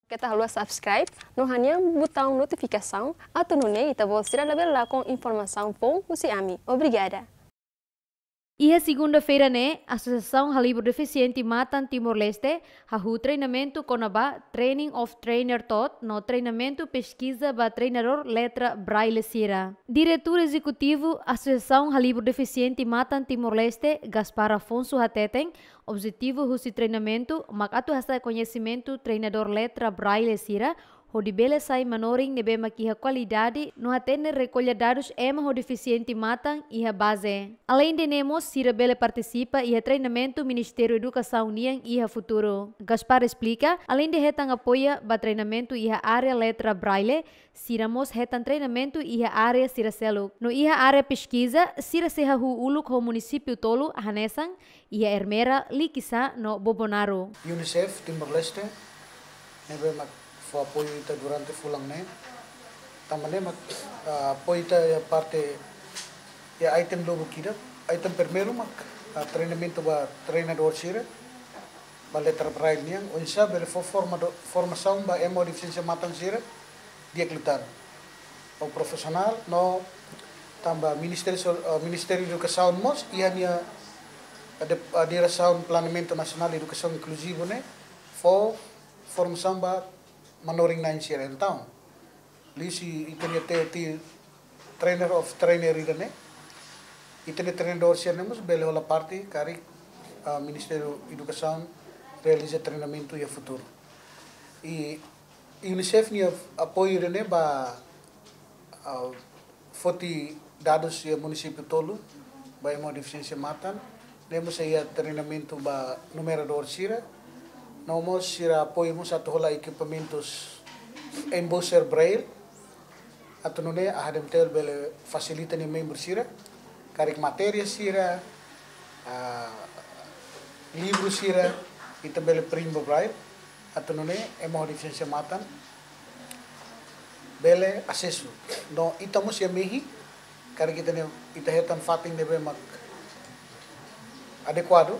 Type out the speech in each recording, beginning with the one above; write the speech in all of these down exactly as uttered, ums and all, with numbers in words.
Keta haluha subscribe no hanehan butaun notifikasaun, atu nune'e ita-boot sira labele lakon informasaun foun husi ami. Obrigada. Iha segunda-feira ne'e, Asosiasaun Halibur Defisiente Matan Timor-Leste hahú treinamentu kona-ba Training of Trainer Tot no treinamentu peskiza ba treinadór letra Braille sira. Diretór Ezekutivu Asosiasaun Halibur Defisiente Matan Timor-Leste, Gaspar Afonso hateten, objetivu husi treinamentu mak atu hasa'e koñesimentu treinadór letra Braille sira, hodi bele sai manorin ne'ebé mak iha kualidade no hatene rekolla dadus ema ho defisiente matan iha baze. Aleinde ne'e mós sira bele partisipa iha treinamentu Ministériu Edukasaun nian iha futuru. Gaspar esplika, aleinde hetan apoia ba treinamentu iha área letra Braille, sira mós hetan treinamentu iha área sira seluk. No iha área peskiza, sira sei hahú uluk ho munisípiu tolu hanesan iha Ermera, Likisá no Bobonaro. UNICEF Timor-Leste, ne'ebé mak fó apoiu ita durante fulan ne'e. Tanba ne'e mak, ah, apoiu ita iha parte, iha item lubuk ida. Item primeiru mak, ah, treinamentu ba treinadór sira, ba letra Braille nian, oinsá bele fó formado-, formasaun ba ema ho defisiénsia matan sira, di'ak liután. Ho profisionál, no tanba Ministériu So-, eh, Ministériu Edukasaun mós, iha nia, eh, de-, eh, Diresaun Planeamentu Nasionál Edukasaun Inkluzivu ne'e, fó formasaun ba manorin-na'in sira. Entaun, liuhusi ita-nia T O T, trainer of trainer ida-ne'e, ita-nia treinadór sira-ne'e mós bele hola parte karik, ah, Ministériu Edukasaun realiza treinamentu iha futuru. I UNICEF nia apoiu ida-ne'e ba, ah, foti dadus iha munisípiu tolu, ba ema ho defisiénsia matan, ne'e mós iha treinamentu ba numeradór sira, no mós sira apoiu mós atu hola ekipamentus embosser Braille, atu nune'e AHDMTL bele fasilita nia membru sira, karik matéria sira, ah, livru sira, ita bele print ba Braille, atu nune'e ema ho defisiénsia matan bele asesu. No ita mós iha mehi, karik ita-nia, ita hetan fatin ne'ebé mak adekuadu,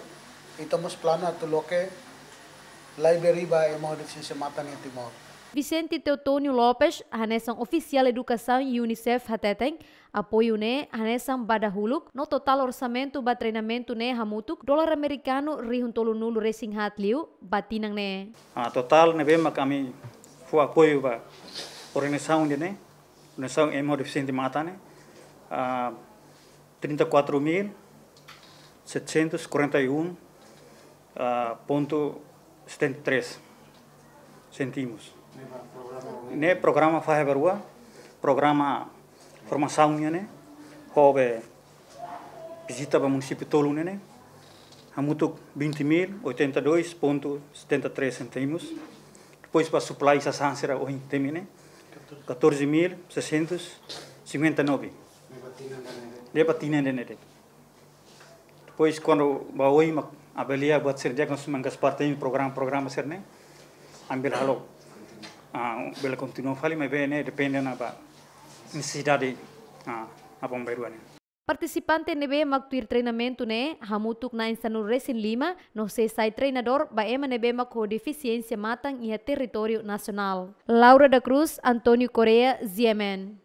ita mós planu atu loke library ba ema ho defisiénsia matan iha Timor. Vicente Teotonio Lopes, hanesan ofisiál edukasaun UNICEF hateten, apoiu ne'e hanesan ba dahuluk, no totál orsamentu ba treinamentu ne'e hamutuk dolar amerikanu rihun tolunulu-resin-haat liu ba tinan ne'e. Ah, totál ne'ebé mak ami fó apoiu ba organizasaun ida-ne'e, organizasaun ema ho defisiénsia matan ne'e, ah, trinta e quatro mil setecentos e quarenta e um, ah, ponto setenta e três centimos. Ne'e programa fahe ba rua, programa formasaun nian ne'e, ho be vizita ba munisípiu tolu nian ne'e, hamutuk vinte mil oitenta e dois ponto setenta e três centimos. Depois ba supply sasán sira ohin temi ne'e, catorze mil seiscentos cinquenta e nove. Ne'e ba tinan ida-ne'e de'it. Depois, kuandu ba oin mak avalia buat sira di'ak, nós manga parte programa, programa sira-ne'e, ami bele halo, ah, bele kontinua fali, maibé ne'e depende ona ba nesesidade, ah, apá bainrua ne'e. Partisipante ne'ebé mak tuir treinamentu ne'e hamutuk na'in sanulu-resin-lima, no sei sai treinadór ba ema ne'ebé mak ho defisiénsia matan iha territóriu nasionál. Laura da Cruz, António Correia, G M N.